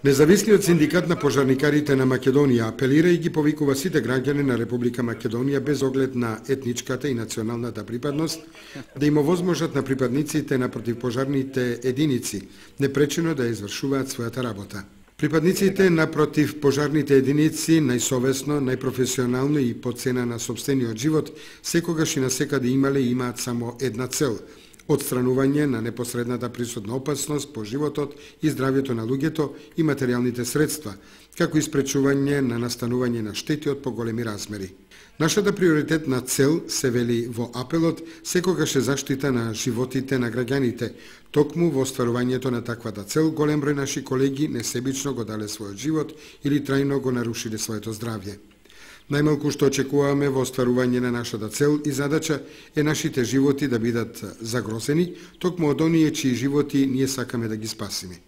Независниот синдикат на пожарникарите на Македонија апелира и ги повикува сите граѓани на Република Македонија без оглед на етничката и националната припадност да им овозможат на припадниците на противпожарните единици непречено да извршуваат својата работа. Припадниците на противпожарните единици најсовесно, најпрофесионално и по цена на сопствениот живот секогаш и насекаде имале и имаат само една цел – отстранување на непосредната присутна опасност по животот и здравјето на луѓето и материјалните средства, како и спречување на настанување на штети од поголеми размери. Нашата приоритетна цел, се вели во апелот, секогаш е заштита на животите на граѓаните. Токму во остварувањето на таквата цел, голем број наши колеги несебично го дале својот живот или трајно го нарушиле своето здравје. Најмалку што очекуваме во остварување на нашата цел и задача е нашите животи да бидат загрозени, токму од оние чии животи ние сакаме да ги спасиме.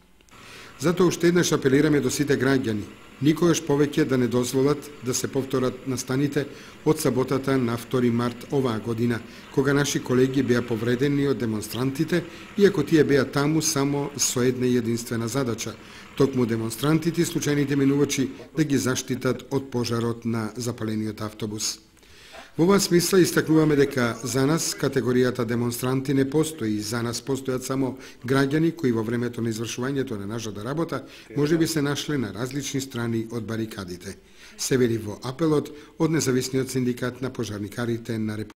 Затоа уште еднаш апелираме до сите граѓани, никогаш повеќе да не дозволат да се повторат настаните од саботата на 2 март оваа година, кога наши колеги беа повредени од демонстрантите, иако тие беа таму само со една единствена задача, токму демонстрантите и случајните минувачи да ги заштитат од пожарот на запалениот автобус. Во оваа смисла истакнуваме дека за нас категоријата демонстранти не постои, за нас постојат само граѓани кои во времето на извршувањето на нашата работа можеби се нашле на различни страни од барикадите. Се вели во апелот од Независниот синдикат на пожарникарите на Република